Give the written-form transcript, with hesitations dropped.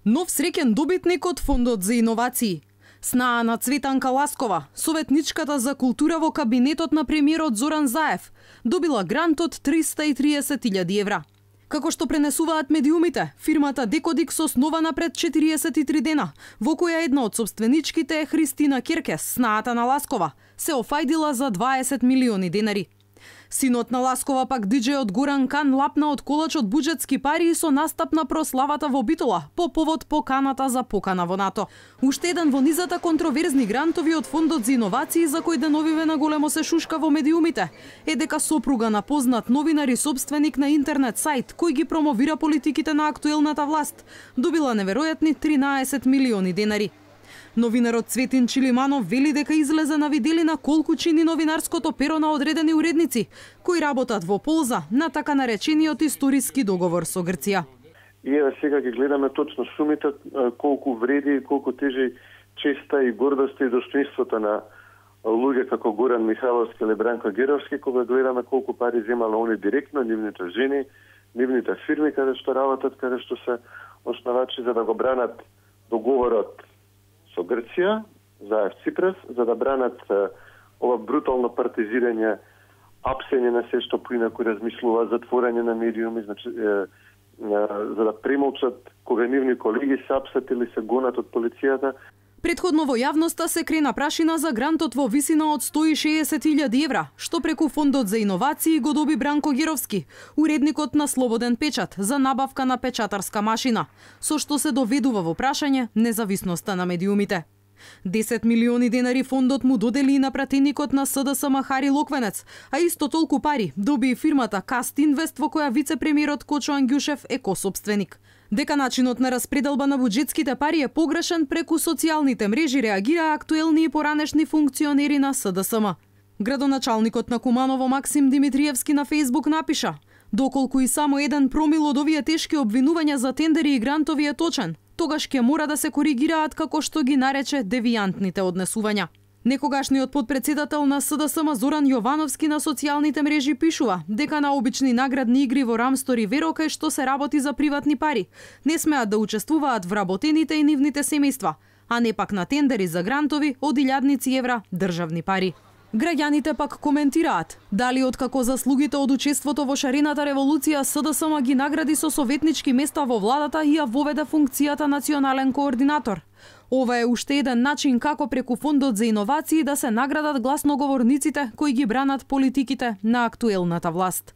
Нов среќен добитник од Фондот за иновации. Снаа на Цветанка Ласкова, советничката за култура во кабинетот на премиерот Зоран Заев, добила грант од 330.000 евра. Како што пренесуваат медиумите, фирмата Декодикс основана пред 43 дена, во која една од собственичките е Христина Керкес, снаата на Ласкова, се офајдила за 20 милиони денари. Синот на Ласкова пак диџејот Горан Кан лапна од колач од буџетски пари со настап на прославата во Битола по повод поканата за покана во НАТО. Уште еден во низата контроверзни грантови од Фондот за иновации за кој деновиве на големо се шушка во медиумите е дека сопруга на познат новинар и собственик на интернет сајт кој ги промовира политиките на актуелната власт добила неверојатни 13 милиони денари. Новинарот Цветин Чилиманов вели дека излезе на виделина колку чини новинарското перо на одредени уредници кои работат во полза на така наречениот историски договор со Грција. И еве сега ги гледаме точно сумите, колку вреди и колку тежи честа и гордоста и достоинството на луѓе како Горан Михайловски или Бранко Геровски, кога гледаме колку пари земале они директно, нивните жени, нивните фирми каде што работат, каде што се основачи за да го бранат договорот со Грција, Заев Ципрас, за да бранат ова брутално партизирање, апсење на се што поинаку размислува, затворање на медиуми, значи, за да премолчат кога нивни колеги се апсат или се гонат од полицијата. Предходно во јавноста се крена прашина за грантот во висина од 160.000 евра, што преку Фондот за иновации го доби Бранко Геровски, уредникот на Слободен печат, за набавка на печатарска машина, со што се доведува во прашање независноста на медиумите. 10 милиони денари фондот му додели и на пратеникот на СДСМ Хари Локвенец, а исто толку пари доби и фирмата Каст Инвест во која вице-премиерот Кочо Ангјушев е косопственик. Дека начинот на распределба на буџетските пари е погрешен, преку социјалните мрежи реагира актуелни и поранешни функционери на СДСМ. Градоначалникот на Куманово Максим Димитриевски на Фејсбук напиша: "Доколку и само еден промил од овие тешки обвинувања за тендери и грантови е точен, тогаш ќе мора да се коригираат како што ги нарече девијантните однесувања." Некогашниот подпредседател на СДСМ Зоран Јовановски на социјалните мрежи пишува дека на обични наградни игри во Рамстор и Веро кај што се работи за приватни пари не смеат да учествуваат вработените и нивните семејства, а не пак на тендери за грантови од илјадници евра државни пари. Граѓаните пак коментираат дали откако заслугите од учеството во шарената револуција СДСМ ги награди со советнички места во владата и ја воведе функцијата национален координатор. Ова е уште еден начин како преку Фондот за иновации да се наградат гласноговорниците кои ги бранат политиките на актуелната власт.